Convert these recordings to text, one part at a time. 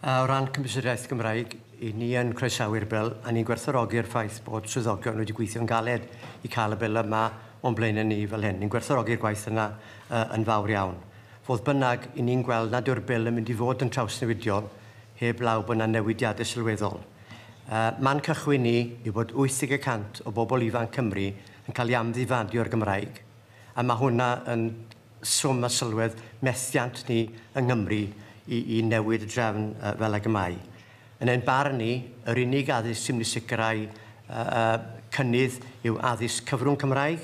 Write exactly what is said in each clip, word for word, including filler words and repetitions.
O ran Cymdeithas yr Iaith Gymraeg, i ni yn croesawu'r bil a ni'n gwerthfawrogi'r ffaith bod swyddogion wedi gweithio'n galed i cael y bil yma o'n blaenau ni fel hyn. Ni'n gwerthfawrogi'r gwaith yna uh, yn fawr iawn. Fodd bynnag, i ni'n gweld nad yw'r bil yn mynd i fod yn trawsnewidiol heb law bod yna newidiadau sylweddol. Uh, man cychwyn ni yw bod wyth deg y cant o bobl ifanc Cymru yn cael ei amddifadu o'r Gymraeg. A mae hwnna yn swm a sylwedd methiant ni yng Nghymru i, i newid y drefn uh, fel ag y mae. Yn ein barn ni, yr unig addysg sy'n mynd i sicrhau uh, uh, cynnydd yw addysg cyfrwng Cymraeg,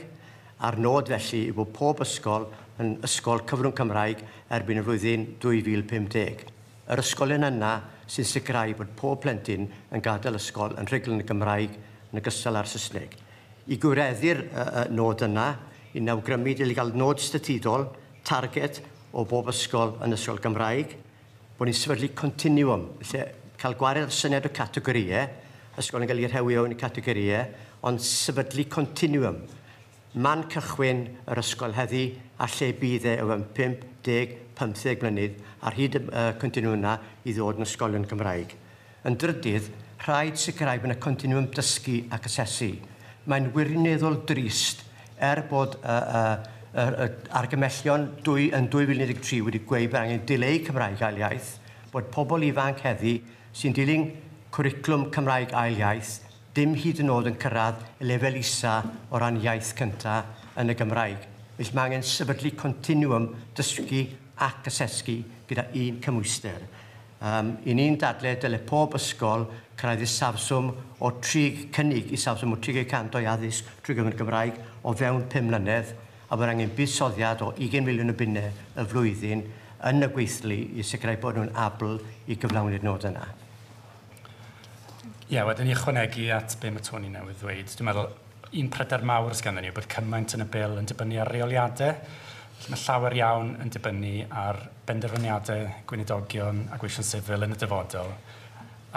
a'r nod felly yw bod pob ysgol yn ysgol cyfrwng Cymraeg erbyn y flwyddyn dwy fil pum deg. Yr ysgolion yna sy'n sicrhau bod pob plentyn yn gadael ysgol yn rhugl yn y Gymraeg yn ogystal â'r Saesneg. I gwireddu'r uh, uh, nod yna, i awgrymu dylai gael nod statudol, target o bob ysgol yn ysgol Gymraeg, bod ni'n sefydlu continuum, lle cael gwared ar syniad o categorïau, ysgol yn cael ei rhewi o'n categorïau, ond sefydlu continuum. Man cychwyn yr ysgol heddi a lle bydd e o fewn pump deg, pymtheg mlynedd ar hyd y uh, continuum yna i ddod yn ysgolion Gymraeg. Yn drydydd, rhaid sicrhau bod yna continuum dysgu ac asesu. Mae'n wirioneddol drist er bod uh, uh, uh, argymellion dwy, yn dwy fil un deg tri wedi gweud bod angen dileu Cymraeg ail iaith, bod pobl ifanc heddi sy'n dilyn cwricwlwm Cymraeg ail iaith dim hyd yn oed yn cyrraedd y lefel isa o ran iaith cyntaf yn y Gymraeg. Felly mae angen sefydlu continuum dysgu ac asesu gyda un cymhwyster. Um, I ni'n dadle dyle pob ysgol cyrraedd isafswm o tri, cynnig isafswm o tri deg cant o'i addysg trwy gyfrwng y Gymraeg o fewn pum mlynedd, a bod angen buddsoddiad o ugain miliwn o bunnau y flwyddyn yn y gweithlu i sicrhau bod nhw'n abl i gyflawni'r nod yna. Ie, yeah, wedyn i ychwanegu at be mae Tony newydd ddweud, dwi'n meddwl un pryder mawr sganddyn ni yw bod cymaint yn y bil yn dibynnu ar reoliadau. Felly mae llawer iawn yn dibynnu ar benderfyniadau gweinidogion a gweision sifil yn y dyfodol.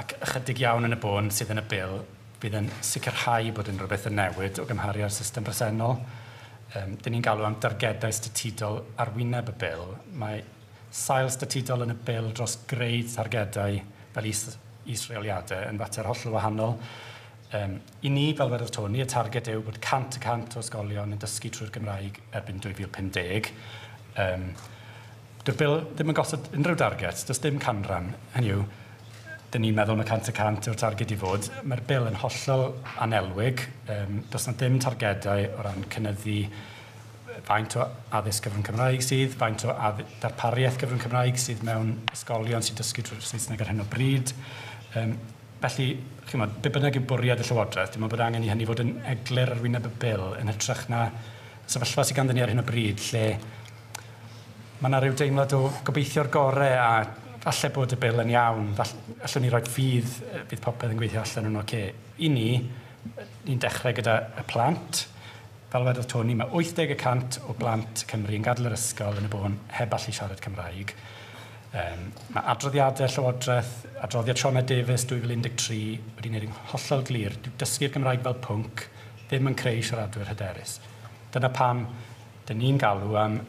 Ac ychydig iawn yn y bôn sydd yn y bil bydd yn sicrhau bod unrhyw beth yn newid o gymharu â'r system bresennol. Um, dyn ni'n galw am dargedau statudol ar wyneb y bil. Mae sail statudol yn y bil dros greu targedau fel is isreoliadau yn fater hollol wahanol. Um, I ni, fel wedodd Tony, y targed yw bod cant y cant o ysgolion yn dysgu trwy'r Gymraeg erbyn dwy fil pum deg. Um, Dyw'r bil ddim yn gosod unrhyw darget, does dim canran. Hynny yw, dyn ni'n meddwl mae cant y cant yw'r targed i fod. Mae'r bil yn hollol anelwig. Um, does na dim targedau o ran cynyddu faint o addysg gyfrwng Cymraeg sydd, faint o darpariaeth gyfrwng Cymraeg sydd mewn ysgolion sy'n dysgu trwy'r Saesneg ar hyn o bryd. Um, felly, chi'mod, be bynnag yw bwriad y Llywodraeth, dwi'n meddwl bod angen i hynny fod yn eglur ar wyneb y bil yn hytrach na sefyllfa sydd ganddyn ni ar hyn o bryd, lle mae yna rhyw deimlad o gobeithio'r gorau a falle bod y bil yn iawn, falle, allwn ni roi ffydd, bydd popeth yn gweithio allan yn oce. I ni, ni'n dechrau gyda y plant. Fel wedodd Tony, mae wyth deg y cant o blant Cymru yn gadael yr ysgol yn y bôn heb allu siarad Cymraeg. Um, mae adroddiadau Llywodraeth, adroddiad Sioned Davies dwy fil un deg tri wedi gwneud yn hollol glir. Dyw dysgu'r Gymraeg fel pwnc ddim yn creu siaradwyr hyderus. Dyna pam dyn ni'n galw am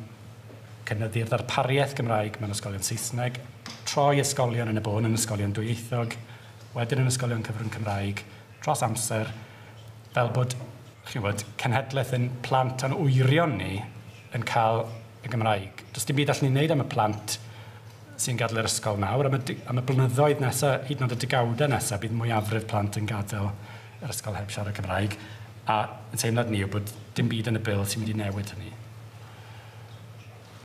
cynyddu'r ddarpariaeth Gymraeg mewn ysgolion Saesneg, troi ysgolion yn y bôn yn ysgolion dwyieithog, wedyn yn ysgolion cyfrwng Cymraeg, dros amser, fel bod chi'n gwybod, cenhedlaeth yn plant a'n wyrion ni yn cael y Gymraeg. Does dim byd allwn ni wneud am y plant sy'n gadael yr ysgol nawr, am y, am y blynyddoedd nesaf, hyd yn oed y degawdau nesaf, bydd mwyafrif plant yn gadael yr ysgol heb siarad Cymraeg. A yn teimlad ni yw bod dim byd yn y bil sy'n mynd i newid hynny.